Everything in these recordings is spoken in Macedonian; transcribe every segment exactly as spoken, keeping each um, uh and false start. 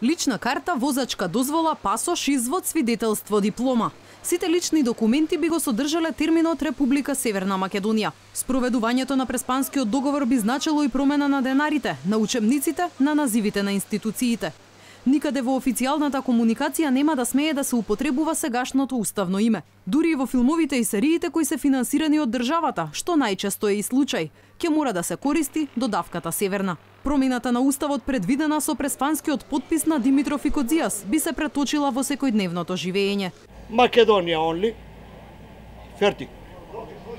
Лична карта, возачка дозвола, пасош, извод, свидетелство, диплома. Сите лични документи би го содржале терминот Република Северна Македонија. Спроведувањето на Преспанскиот договор би значило и промена на денарите, на учебниците, на називите на институциите. Никаде во официјалната комуникација нема да смее да се употребува сегашното уставно име. Дури и во филмовите и сериите кои се финансирани од државата, што најчесто е и случај, ќе мора да се користи додавката Северна. Промената на уставот предвидена со преспанскиот потпис на Димитров и Кодзијас би се преточила во секојдневното живење. Македонија онли, фертик,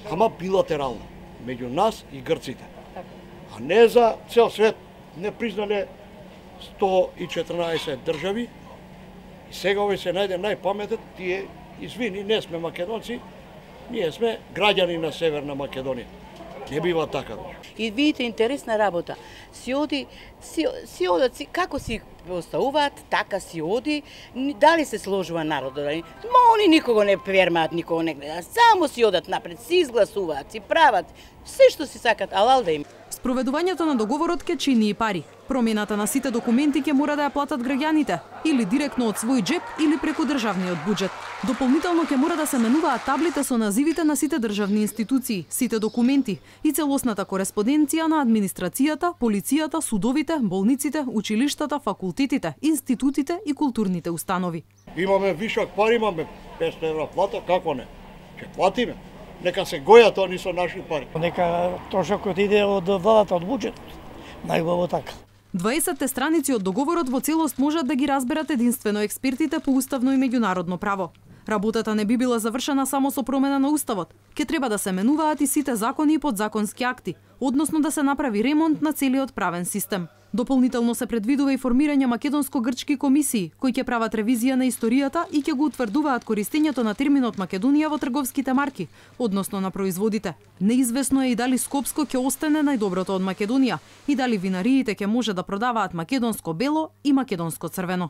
ама билатерално, меѓу нас и грците. А не за цел свет, не признале сто и четрнаесет држави, и сега овој се најде најпаметен, тие, извини, не сме македонци, ние сме граѓани на Северна Македонија. Не бива така. И видите интересна работа. Си оди, си, си одат, си, како си оставуваат, така си оди, дали се сложува народот, дали? Ма они никого не пермаат, никого не гледаат, само си одат напред, си изгласуваат, си прават, се што си сакат, алал да им. Спроведувањето на договорот ќе чини и пари. Промената на сите документи ќе мора да ја платат граѓаните, или директно од свој джеп, или преку државниот буџет. Дополнително ќе мора да се менуваат таблите со називите на сите државни институции, сите документи и целосната кореспонденција на администрацијата, полицијата, судовите, болниците, училиштата, факултетите, институтите и културните установи. Имаме вишок пари, имаме петстотини евра плата, како не? Ќе платиме. Нека се гојат они со наши пари. Нека трошокот иде од владата, од буџетот. Најубаво така. дваесетте страници од договорот во целост можат да ги разберат единствено експертите по уставно и меѓународно право. Работата не би била завршена само со промена на уставот. Ке треба да се менуваат и сите закони и подзаконски акти, односно да се направи ремонт на целиот правен систем. Дополнително се предвидува и формирање македонско-грчки комисии, кои ќе прават ревизија на историјата и ќе го утврдуваат користењето на терминот Македонија во трговските марки, односно на производите. Неизвестно е и дали Скопско ќе остане најдоброто од Македонија и дали винариите ќе може да продаваат македонско бело и македонско црвено.